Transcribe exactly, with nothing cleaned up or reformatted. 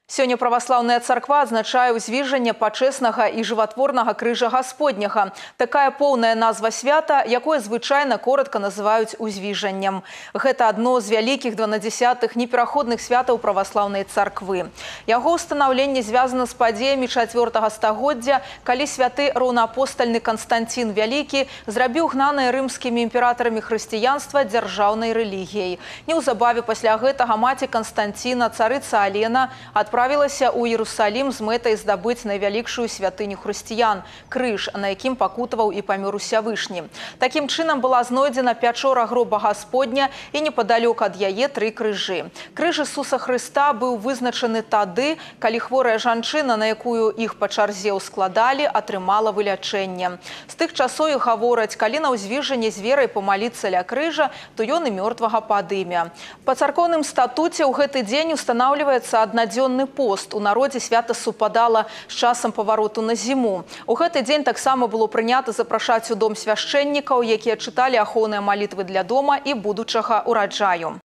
Сёння праваслаўная царква адзначае ўзвіжанне пачэснага і жыватворнага крыжа Гасподняга. Такая поўная назва свята, якое звычайна коротка называюць узвіжаннем. Гэта адно з вялікіх дванадзесятых непераходных святаў праваслаўнай царквы. Яго ўстанаўленне звязана з падзеямі чацвёртага стагоддзя, калі святы роўнаапостальны Канстанцін Вялікі зрабіў гнанае рымскімі імператарамі хрысціянства дзяржаўнай рэлігіяй. Неўзабаве пасля гэтага маці Канстанціна, царыца Алена, адправілася ў Іерусалім з мэтай здабыць найвялікшую святыню хрысціян – крыж, на якім пакутаваў і памёр Усявышні. Такім чынам была знойдзена пячора гроба Гасподня і непадалёк ад яе тры крыжы. Крыж Ісуса Хрыста быў вызначаны тады, калі хворая жанчына, на якую іх па чарзе ўскладалі, атрымала вылячэнне. З тых часоў і гавораць, калі на ўзвіжанне з верай памаліцца ля крыжа, то ён і мёртвага падыме. Па царкоўным статуце ў гэты дзень устанаўліваецца аднадзённы пост. У народзе свята супадала з часам павароту на зіму. У гэты дзень таксама было прынята запрашаць у дом свяшчэннікаў, якія чыталі ахоўныя малітвы для дома і будучага ўраджаю.